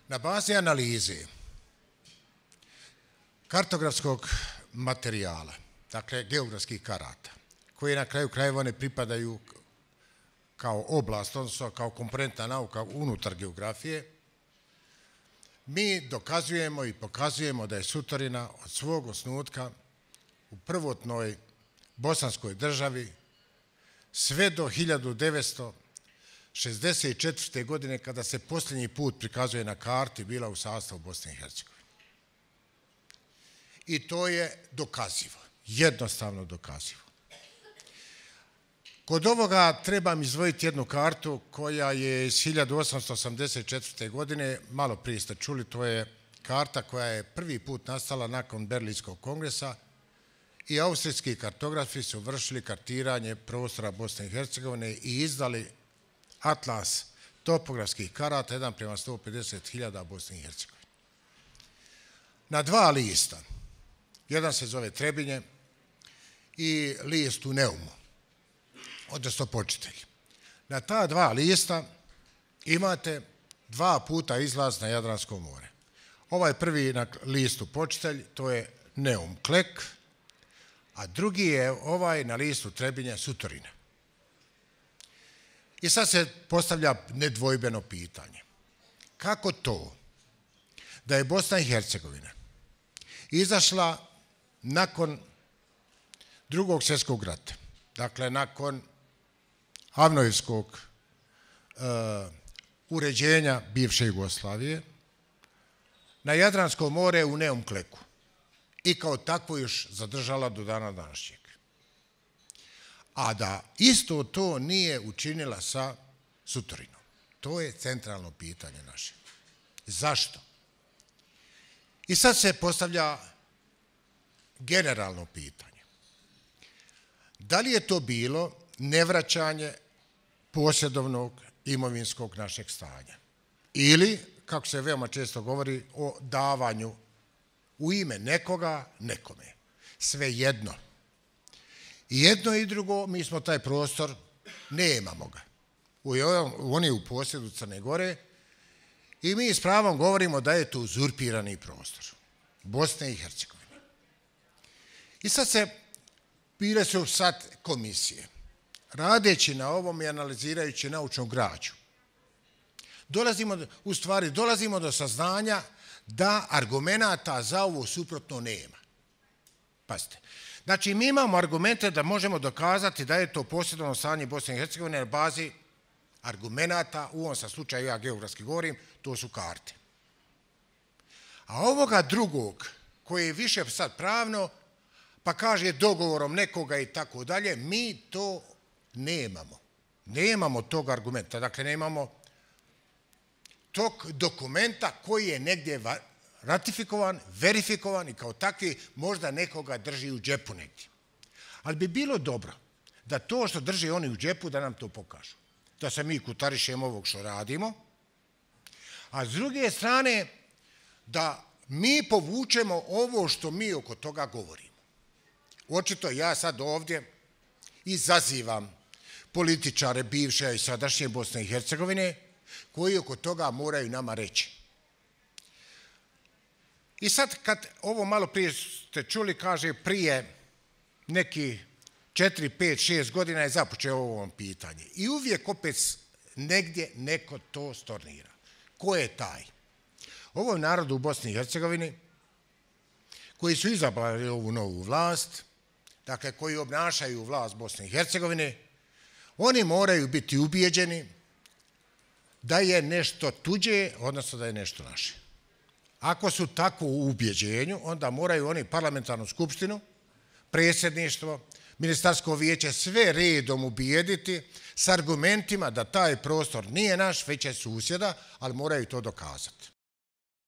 Na bazi analize kartografskog materijala, dakle geografskih karata, koje na kraju krajeva ne pripadaju kao oblast, odnosno kao komponentna nauka unutar geografije, mi dokazujemo i pokazujemo da je Sutorina od svog osnutka u prvotnoj bosanskoj državi sve do 1964. godine, kada se posljednji put prikazuje na karti, bila u sastavu Bosne i Hercegovine. I to je dokazivo, jednostavno dokazivo. Kod ovoga trebam izdvojiti jednu kartu koja je iz 1884. godine, malo prije ste čuli, to je karta koja je prvi put nastala nakon Berlinskog kongresa i austrijski kartografi su vršili kartiranje prostora Bosne i Hercegovine i izdali atlas topografskih karata 1:150.000 Bosne i Hercegovine. Na dva lista, jedan se zove Trebinje i list u Neumu, odnosno Počitelj. Na ta dva lista imate dva puta izlaz na Jadransko more. Ovaj prvi na listu Počitelj, to je Neum Klek, a drugi je ovaj na listu Trebinje Sutorina. I sad se postavlja nedvojbeno pitanje. Kako to da je Bosna i Hercegovina izašla nakon Drugog svjetskog rata, dakle nakon Avnojevskog uređenja bivše Jugoslavije, na Jadransko more u Neum Kleku i kao takvo još zadržala do dana današnjeg. A da isto to nije učinila sa Sutorinom. To je centralno pitanje naše. Zašto? I sad se postavlja generalno pitanje. Da li je to bilo nevraćanje posjedovnog imovinskog našeg stanja? Ili, kako se veoma često govori, o davanju u ime nekoga nekome. Svejedno. I jedno i drugo, mi smo taj prostor, nemamo ga. On je u posjedu Crne Gore i mi s pravom govorimo da je to uzurpirani prostor Bosne i Hercegovine. I sad bile su komisije. Radeći na ovom i analizirajući naučnu građu, dolazimo do saznanja da argumenata za ovo suprotno nema. Pazite. Znači, mi imamo argumente da možemo dokazati da je to posjedovno stanje Bosne i Hercegovine na bazi argumenata, u ovom sa slučaju ja geografski govorim, to su karte. A ovoga drugog, koji je više sad pravno, pa kaže dogovorom nekoga i tako dalje, mi to nemamo. Nemamo tog argumenta, dakle nemamo tog dokumenta koji je negdje ratifikovan, verifikovan i kao takvi možda nekoga drži u džepu negdje. Ali bi bilo dobro da to što drži oni u džepu da nam to pokažu. Da se mi kutarišemo ovog što radimo, a s druge strane da mi povučemo ovo što mi oko toga govorimo. Očito ja sad ovdje izazivam političare bivše i sadašnje Bosne i Hercegovine koji oko toga moraju nama reći. I sad kad ovo malo prije ste čuli, kaže prije neki 4, 5, 6 godina je započeo ovo pitanje. I uvijek opet negdje neko to stornira. Ko je taj? Ovo je narod u Bosni i Hercegovini koji su izabrali ovu novu vlast, dakle koji obnašaju vlast Bosne i Hercegovine, oni moraju biti ubijeđeni da je nešto tuđe, odnosno da je nešto naše. Ako su tako u ubjeđenju, onda moraju oni parlamentarnu skupštinu, predsjedništvo, ministarsko vijeće sve redom ubijediti s argumentima da taj prostor nije naš, već je susjeda, ali moraju to dokazati.